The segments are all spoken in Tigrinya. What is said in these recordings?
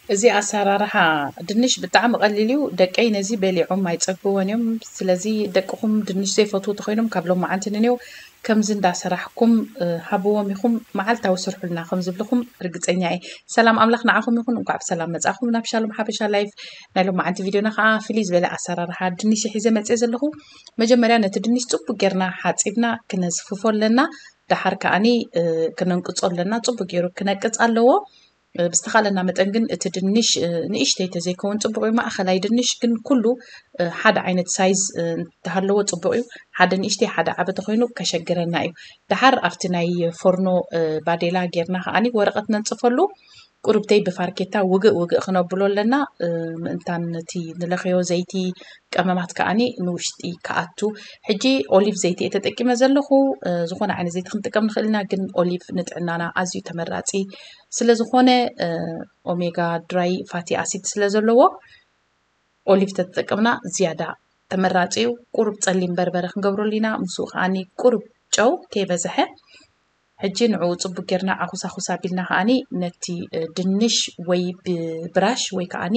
እዚ ኣሰራርሓ ድንሽ ብጣዕሚ ቀሊል እዩ። ደቀይ ነዚ በሊዖም ኣይጸግብዎን እዮም። ስለዚ ደቅኹም ድንሽ ዘይፈትዉ ተኾይኖም ካብ ሎማዓንቲ ንኔው ከምዚ እንዳሰራሕኩም ሃብዎም ኢኹም፣ መዓልታዊ ስርሑልና ከም ዝብልኹም ርግጸኛ እየ። ሰላም ኣምላኽ ንዓኹም ይኹን። እንኳዕ ብሰላም መጻኹም ናብ ሻሎም ሓበሻ ላይፍ። ናይ ሎማዓንቲ ቪድዮና ከዓ ፍልይ ዝበለ ኣሰራርሓ ድንሽ ሒዘ መጽእ ዘለኹ። መጀመርያ ነቲ ድንሽ ጽቡቅ ጌርና ሓጺብና ክነዝፍፎ ኣለና። ደሓር ከዓኒ ክነንቅጾ ኣለና። ጽቡቅ ገይሩ ክነቅጽ ኣለዎ። ብዝተኻለና መጠን ግን እቲ ድንሽ ንእሽተይ ተዘይከውን ጽቡቕ እዩ። ማእኸላይ ድንሽ ግን ኩሉ ሓደ ዓይነት ሳይዝ እንተሃለዎ ጽቡቕ እዩ። ሓደ ንእሽተይ ሓደ ዓቢ ተኾይኑ ከሸግረና እዩ። ደሓር ኣብቲ ናይ ፎርኖ ባዴላ ጌርና ከዓኒ ወረቐት ነንጽፈሉ። ቁርብተይ ብፋርኬታ ውግእ ውግእ ክነብሎ ኣለና። ምእንታን ነቲ ንለኸዮ ዘይቲ ቀመማት ከዓኒ ንውሽጢ ክኣቱ። ሕጂ ኦሊቭ ዘይቲ እየ ተጠቂመ ዘለኹ። ዝኾነ ዓይነት ዘይቲ ክንጥቀም ንኽእል ኢና፣ ግን ኦሊቭ ንጥዕናና ኣዝዩ ተመራጺ ስለ ዝኾነ ኦሜጋ ድራይ ፋቲ ኣሲድ ስለ ዘለዎ ኦሊቭ ተተጠቀምና ዝያዳ ተመራጺ እዩ። ቁሩብ ጸሊም በርበረ ክንገብረሉ ኢና። ምስኡ ከዓኒ ቁሩብ ጨው ከይበዝሐ። ሕጂ ንዕኡ ጽቡቅ ጌርና ዓኹሳኹስ ኣቢልና ከዓኒ ነቲ ድንሽ ወይ ብብራሽ ወይ ከዓኒ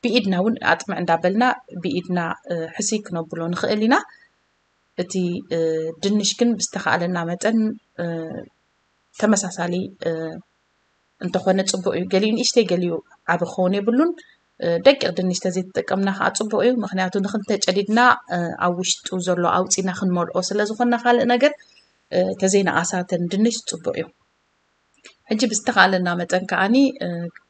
ብኢድና እውን ኣጥምዕ እንዳበልና ብኢድና ሕስይ ክነብሎ ንኽእል ኢና። እቲ ድንሽ ግን ብዝተኻእለና መጠን ተመሳሳሊ እንተኾነ ጽቡቕ እዩ። ገሊኡ ንእሽተይ ገሊኡ ዓቢ ክኸውን የብሉን። ደቂቕ ድንሽ ተዘይተጠቀምና ከዓ ጽቡቕ እዩ። ምኽንያቱ ንኽልተ ጨዲድና ኣብ ውሽጡ ዘሎ ኣውፂና ክንመልኦ ስለ ዝኾንና ካልእ ነገር ተዘይነኣሳተን ድንሽ ጽቡቕ እዩ። ሕጂ ብዝተኻለና መጠን ከዓኒ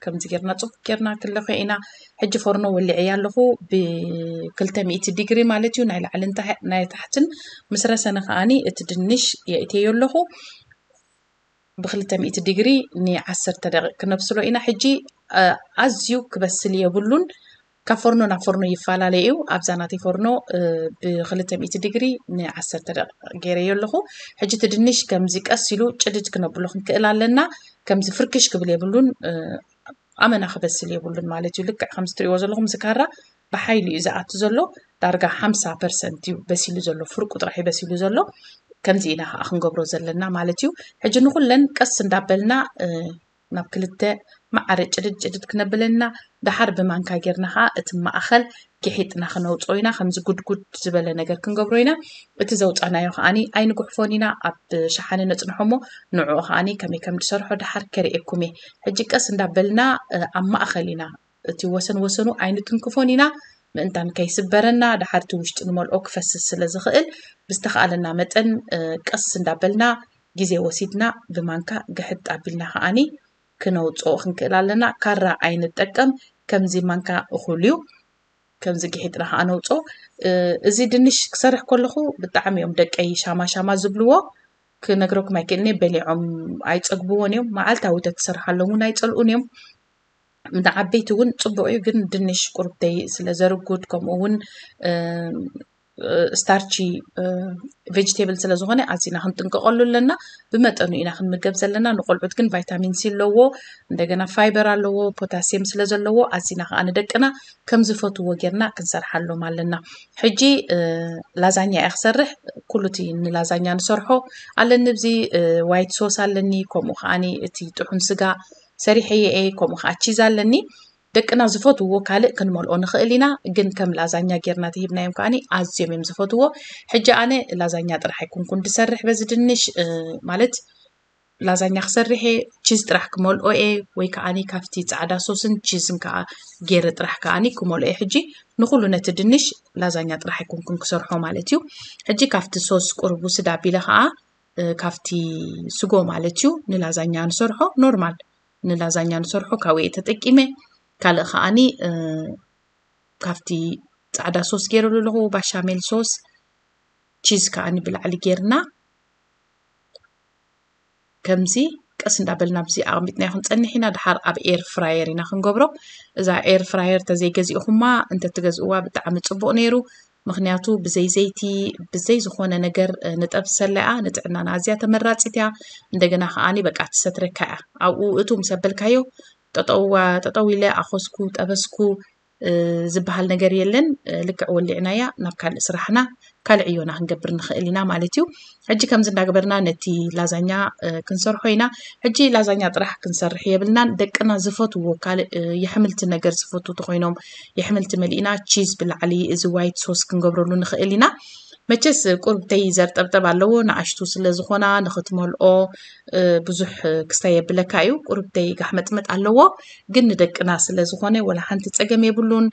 ከምዚ ጌርና ጽቡቕ ጌርና ክለኾ ኢና። ሕጂ ፎርኖ ወሊዐያ ኣለኹ ብክልተ ሚእቲ ዲግሪ ማለት እዩ። ናይ ላዕልን ናይ ታሕትን ምስ ረሰነ ከዓኒ እቲ ድንሽ የእትየዮ ኣለኹ። ብክልተ ሚእቲ ዲግሪ ንዓሰርተ ደቂቕ ክነብስሎ ኢና። ሕጂ ኣዝዩ ክበስል የብሉን። ካብ ፎርኖ ናብ ፎርኖ ይፈላለ እዩ። ኣብዛ ናተይ ፎርኖ ብክልተ ሚእቲ ዲግሪ ንዓሰርተ ደቂቕ ገይረዮ ኣለኹ። ሕጂ እቲ ድንሽ ከምዚ ቀስ ኢሉ ጭድድ ክነብሎ ክንክእል ኣለና። ከምዚ ፍርክሽ ክብል የብሉን። ኣመና ክበስል የብሉን ማለት እዩ። ልክዕ ከምዚ ትሪእዎ ዘለኹም እዚ ካራ ብሓይሊ እዩ ዝኣቱ ዘሎ። ዳርጋ ሓምሳ ፐርሰንት እዩ በሲሉ ዘሎ፣ ፍርቁ ጥራሕ እዩ በሲሉ ዘሎ። ከምዚ ኢና ከዓ ክንገብሮ ዘለና ማለት እዩ። ሕጂ ንኩለን ቀስ እንዳበልና ናብ ክልተ ማዕረ ጭድድ ጭድድ ክነብለና፣ ደሓር ብማንካ ጌርና ከዓ እቲ ማእኸል ጊሒጥና ክነውፅኦ ኢና። ከምዚ ጉድጉድ ዝበለ ነገር ክንገብሮ ኢና። እቲ ዘውፃናዮ ከዓኒ ኣይንጉሕፎን ኢና፣ ኣብ ሸሓነ ነፅንሖ እሞ ንዕኡ ከዓኒ ከመይ ከም ዝሰርሖ ደሓር ከርእየኩም እየ። ሕጂ ቀስ እንዳበልና ኣብ ማእኸል ኢና፣ እቲ ወሰን ወሰኑ ኣይንትንክፎን ኢና፣ ምእንታን ከይስበረና። ደሓር እቲ ውሽጢ ንመልኦ ክፈስስ ስለ ዝኽእል ብዝተኻኣለና መጠን ቀስ እንዳበልና ግዜ ወሲድና ብማንካ ግሕጥ ኣቢልና ከዓኒ ክነውፅኦ ክንክእል ኣለና። ካራ ኣይንጠቀም፣ ከምዚ ማንካ እኹል እዩ። ከምዚ ግሒጥና ከዓ ነውፅኦ። እዚ ድንሽ ክሰርሕ ከለኹ ብጣዕሚ እዮም ደቀይ ሻማ ሻማ ዝብልዎ። ክነግረኩም ኣይክእልን እየ፣ በሊዖም ኣይፀግብዎን እዮም። መዓልታዊ ተትሰርሓሎም እውን ኣይፀልኡን እዮም። ንዓበይቲ እውን ፅቡቕ እዩ፣ ግን ድንሽ ቁርብተይ ስለ ዘርጉድ ከምኡ እውን ስታርቺ ቬጅቴብል ስለ ዝኾነ ኣዚና ክንጥንቀቐሉ ኣለና። ብመጠኑ ኢና ክንምገብ ዘለና። ንቆልዑት ግን ቫይታሚን ሲ ኣለዎ፣ እንደገና ፋይበር ኣለዎ፣ ፖታሲየም ስለ ዘለዎ ኣዚና ከዓ ንደቅና ከም ዝፈትዎ ጌርና ክንሰርሓሎም ኣለና። ሕጂ ላዛኛ እየ ክሰርሕ። ኩሉ እቲ ንላዛኛ ንሰርሖ ኣለኒ። ብዚ ዋይት ሶስ ኣለኒ፣ ከምኡ ከዓኒ እቲ ጥሑን ስጋ ሰሪሐየ እየ፣ ከምኡ ከዓ ቺዝ ኣለኒ። ደቅና ዝፈትውዎ ካልእ ክንመልኦ ንኽእል ኢና፣ ግን ከም ላዛኛ ጌርና ተሂብናዮም ከዓኒ ኣዝዮም እዮም ዝፈትዎ። ሕጂ ኣነ ላዛኛ ጥራሕ ኣይኮንኩን ድሰርሕ በዚ ድንሽ ማለት ላዛኛ ክሰርሕ እየ፣ ቺዝ ጥራሕ ክመልኦ እየ፣ ወይ ከዓኒ ካብቲ ጻዕዳ ሶስን ቺዝን ከዓ ገይረ ጥራሕ ከዓኒ ክመልኦ እየ። ሕጂ ንኹሉ ነቲ ድንሽ ላዛኛ ጥራሕ ኣይኮንኩን ክሰርሖ ማለት እዩ። ሕጂ ካብቲ ሶስ ቁሩብ ውስድ ኣቢለ ከዓ ካብቲ ስጎ ማለት እዩ ንላዛኛ ንሰርሖ ኖርማል ንላዛኛ ንሰርሖ ካብኡ እየ ተጠቂመ። ካልእ ከዓኒ ካብቲ ጻዕዳ ሶስ ገይረሉ ኣለኹ፣ ባሻሜል ሶስ፣ ቺዝ ከዓኒ ብላዕሊ ጌርና ከምዚ ቀስ እንዳበልና ኣብዚ ኣቐሚጥናዮ ክንጸንሕ ኢና። ድሓር ኣብ ኤር ፍራየር ኢና ክንገብሮ። እዛ ኤር ፍራየር ተዘይገዚእኹማ እንተትገዝእዋ ብጣዕሚ ጽቡቕ ነይሩ። ምኽንያቱ ብዘይ ዘይቲ ብዘይ ዝኾነ ነገር ንጠብሰላ እያ። ንጥዕናና ኣዝያ ተመራጺት እያ። እንደገና ከዓኒ በቃ ትሰትረካ እያ። ኣብኡ እቱ ምስ ኣበልካዮ ጠጠው ጠጠው ኢለ ኣኾስኩ፣ ጠበስኩ፣ ዝበሃል ነገር የለን። ልክዕ ወሊዕናያ ናብ ካልእ ስራሕና ካልእ ዕዮና ክንገብር ንኽእል ኢና ማለት እዩ። ሕጂ ከምዚ እንዳገበርና ነቲ ላዛኛ ክንሰርሖ ኢና። ሕጂ ላዛኛ ጥራሕ ክንሰርሕ የብልናን። ደቅና ዝፈትዎ ካልእ የሕምልቲ ነገር ዝፈትዉ ተኮይኖም የሕምልቲ መሊእና ቺዝ ብላዕሊ እዚ ዋይት ሶስ ክንገብረሉ ንኽእል ኢና። መቸስ ቁርብተይ ዘርጠብጠብ ኣለዎ፣ ንኣሽቱ ስለ ዝኾና ንኽትመልኦ ብዙሕ ክስታይ የብለካ እዩ። ቁርብተይ ጋሕመጥመጥ ኣለዎ፣ ግን ንደቅና ስለ ዝኾነ ወላ ሓንቲ ጸገም የብሉን።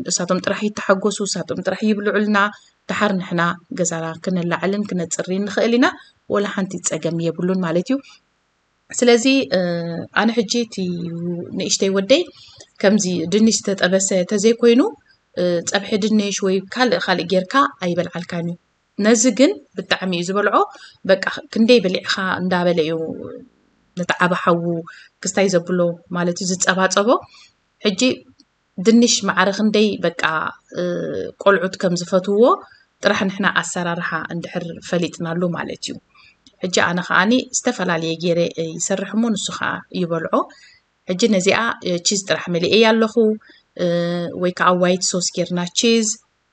እሳቶም ጥራሕ ይተሓጎሱ፣ እሳቶም ጥራሕ ይብልዑልና። ደሓር ንሕና ገዛና ክነላዕልን ክነጽርን ንኽእል ኢና፣ ወላ ሓንቲ ጸገም የብሉን ማለት እዩ። ስለዚ ኣነ ሕጂ እቲ ንእሽተይ ወደይ ከምዚ ድንሽ ዝተጠበሰ ተዘይኮይኑ ጸብሒ ድንሽ ወይ ካልእ ካልእ ጌርካ ኣይበልዓልካን እዩ። ነዚ ግን ብጣዕሚ እዩ ዝበልዖ። በቃ ክንደይ በሊዕኻ እንዳበለ እዩ ነቲ ዓቢ ሓዉ ክስታይ ዘብሎ ማለት እዩ ዝጸባጸቦ። ሕጂ ድንሽ ማዕረ ክንደይ በቃ ቆልዑት ከም ዝፈትውዎ ጥራሕ ንሕና ኣሰራርሓ እንድሕር ፈሊጥናሉ ማለት እዩ። ሕጂ ኣነ ከዓኒ ዝተፈላለየ ገይረ ይሰርሕ እሞ ንሱ ከዓ ይበልዖ። ሕጂ ነዚኣ ቺዝ ጥራሕ መሊኤያ ኣለኹ፣ ወይ ከዓ ዋይት ሶስ ጌርና ቺዝ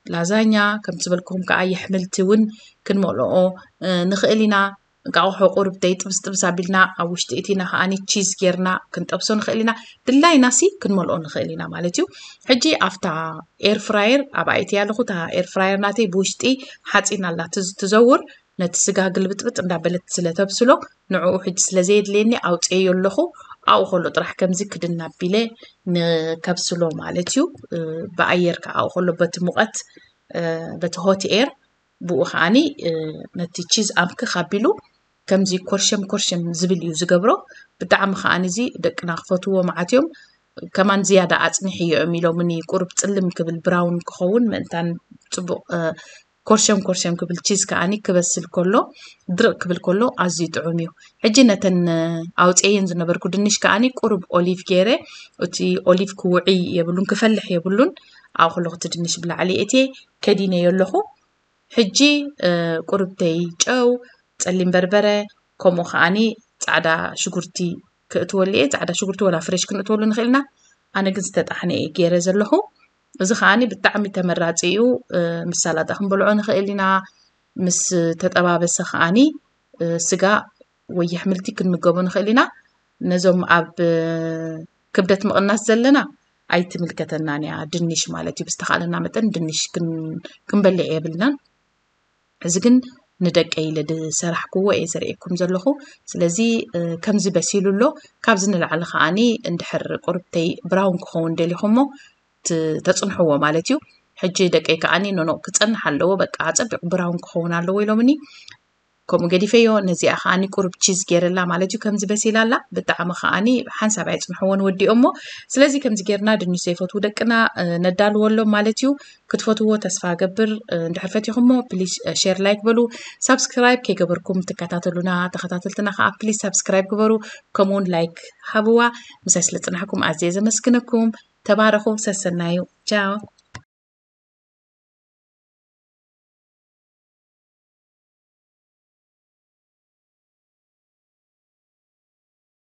ላዛኛ ከም ዝበልኩም ከዓ የሕምልቲ እውን ክንመልኦ ንኽእል ኢና። እንቃቑሖ ቁርብተይ ጥብስ ጥብስ ኣቢልና ኣብ ውሽጢ እቲና ከዓኒ ቺዝ ጌርና ክንጠብሶ ንኽእል ኢና። ድላይና ሲ ክንመልኦ ንኽእል ኢና ማለት እዩ። ሕጂ ኣብታ ኤር ፍራየር ኣብ ኣይቲ ኣለኹ። እታ ኤር ፍራየር ናተይ ብውሽጢ ሓፂን ኣላ ትዝ- ትዘውር፣ ነቲ ስጋ ግልብጥብጥ እንዳበለት ስለ ተብስሎ ንዕኡ ሕጂ ስለ ዘየድልየኒ ኣውፅኤዮ ኣለኹ። ኣብኡ ከሎ ጥራሕ ከምዚ ክድን ኣቢለ ንከብስሎ ማለት እዩ። ብኣየር ከዓ ኣብኡ ከሎ በቲ ሙቐት በቲ ሆት ኤር ብኡ ከዓኒ ነቲ ቺዝ ኣምክኽ ኣቢሉ ከምዚ ኮርሸም ኮርሸም ዝብል እዩ ዝገብሮ። ብጣዕሚ ከዓኒ እዚ ደቅና ክፈትዎ መዓት እዮም። ከማን ዝያዳ ኣፅንሕዮ እዮም ኢሎምኒ፣ ቁሩብ ፅልም ክብል ብራውን ክኸውን ምእንታን ፅቡቕ ኮርሸም ኮርሸም ክብል ቺዝ ከዓኒ ክበስል ከሎ ድርቕ ክብል ከሎ ኣዝዩ ጥዑም እዩ። ሕጂ ነተን ኣውፅኤየን ዝነበርኩ ድንሽ ከዓኒ ቁሩብ ኦሊቭ ገይረ፣ እቲ ኦሊቭ ክውዕይ የብሉን ክፈልሕ የብሉን። ኣብኡ ከለኹ እቲ ድንሽ ብላዕሊ እትየ ከዲነዮ ኣለኹ። ሕጂ ቁርብተይ ጨው፣ ጸሊም በርበረ፣ ከምኡ ከዓኒ ጻዕዳ ሽጉርቲ ክእትወሉ እየ። ጻዕዳ ሽጉርቲ ወላ ፍሬሽ ክንእትወሉ ንኽእል ኢና። ኣነ ግን ዝተጣሕነ እየ ገይረ ዘለኹ። እዚ ከዓኒ ብጣዕሚ ተመራጺ እዩ። ምስ ሳላጣ ክንበልዖ ንኽእል ኢና። ምስ ተጠባበሰ ከዓኒ ስጋ ወይ ኣሕምልቲ ክንምገቦ ንኽእል ኢና። ነዞም ኣብ ክብደት ምቕናስ ዘለና ኣይትምልከተናን እያ፣ ድንሽ ማለት እዩ። ብዝተኻእለና መጠን ድንሽ ክንበልዕ የብልናን። እዚ ግን ንደቀይ ኢለ ዝሰራሕክዎ እየ ዘርእየኩም ዘለኹ። ስለዚ ከምዚ በሲሉ ኣሎ። ካብዚ ንላዕሊ ከዓኒ እንድሕር ቁርብተይ ብራውን ክኸውን ደሊኹሞ ተፅንሕዎ ማለት እዩ። ሕጂ ደቀይ ከዓኒ ኖኖ ክፀንሕ ኣለዎ፣ በቃ ፀቢቑ ብራውን ክኸውን ኣለዎ ኢሎምኒ። ከምኡ ገዲፈዮ። ነዚኣ ከዓኒ ቁሩብ ቺዝ ገይረላ ማለት እዩ። ከምዚ በሲላ ኣላ። ብጣዕሚ ከዓኒ ሓንሳብ ኣይፅንሕዎን ወዲኦሞ። ስለዚ ከምዚ ጌርና ድንሽ ዘይፈትዉ ደቅና ነዳልወሎም ማለት እዩ። ክትፈትዎ ተስፋ ገብር። እንድሕር ፈቲኹሞ ፕሊስ ሼር ላይክ በሉ። ሳብስክራይብ ከይገበርኩም ትከታተሉና ተኸታተልትና ከዓ ፕሊስ ሳብስክራይብ ግበሩ። ከምኡውን ላይክ ሃብዋ። ምሳይ ስለ ፅናሕኩም ኣዝየ ዘመስግነኩም። ተባረኹ። ሰሰናዩ። ቻው።